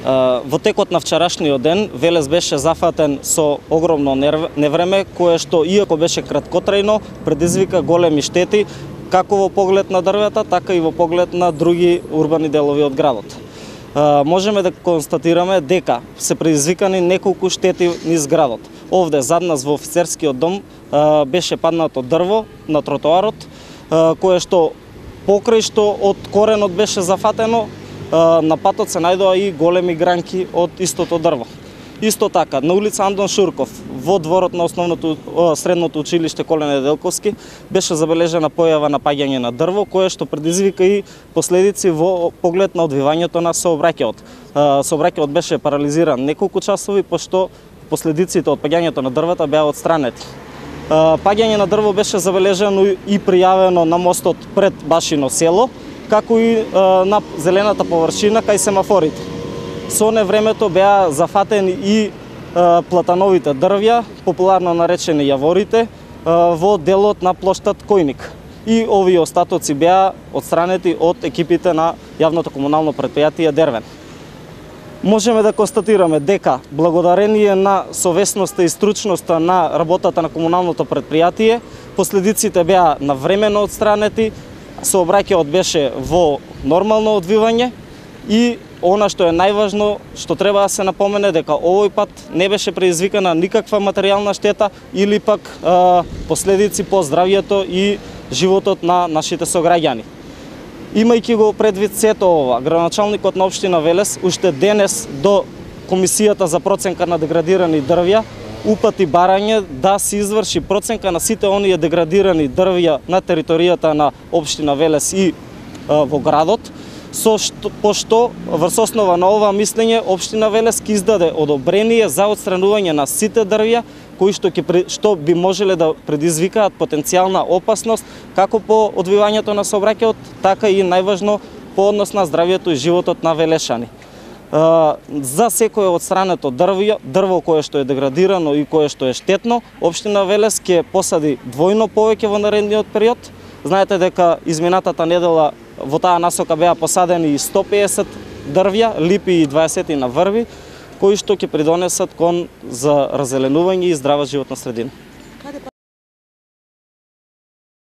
Во текот на вчерашниот ден Велес беше зафатен со огромно невреме, кое што иако беше краткотрајно, предизвика големи штети како во поглед на дрвета, така и во поглед на други урбани делови од градот. Можеме да констатираме дека се предизвикани неколку штети низ градот. Овде зад нас во офицерскиот дом беше паднато дрво на тротоарот, кое што покрај што од коренот беше зафатено, на патот се најдоа и големи гранки од истото дрво. Исто така, на улица Андон Шурков, во дворот на средното училиште Коле Неделковски, беше забележена појава на паѓање на дрво, кое што предизвика и последици во поглед на одвивањето на сообраќајот. Сообраќајот беше парализиран неколку часови, пошто последиците од паѓањето на дрвата беа отстранети. Паѓање на дрво беше забележено и пријавено на мостот пред Башино село, како и на зелената површина кај семафорите. Со невремето беа зафатени и платановите дрвја, популарно наречени јаворите, во делот на плоштад Којник. И овие остатоци беа отстранети од екипите на јавното комунално претпријатие Дервен. Можеме да констатираме дека благодарение на совесноста и стручноста на работата на комуналното претпријатие, последиците беа навремено отстранети, сообраќајот беше во нормално одвивање и она што е најважно, што треба да се напомене, дека овој пат не беше предизвикана никаква материјална штета или пак последици по здравјето и животот на нашите сограѓани. Имајќи го предвид сето ова, градоначалникот на општина Велес уште денес до Комисијата за проценка на деградирани дрвја упати барање да се изврши проценка на сите оние деградирани дрвја на територијата на општина Велес и во градот, пошто врз основа на ова мислење општина Велес ќе издаде одобрение за отстранување на сите дрвја кои што би можеле да предизвикаат потенцијална опасност како по одвивањето на сообраќајот, така и најважно по однос на здравјето и животот на велешани. За секое отстрането дрво кое што е деградирано и кое што е штетно, општина Велес ќе посади двојно повеќе во наредниот период. Знаете дека изминатата недела во таа насока беа посадени и 150 дрвја, липи и 20 на врви, кои што ќе придонесат кон за раззеленување и здрава животна средина.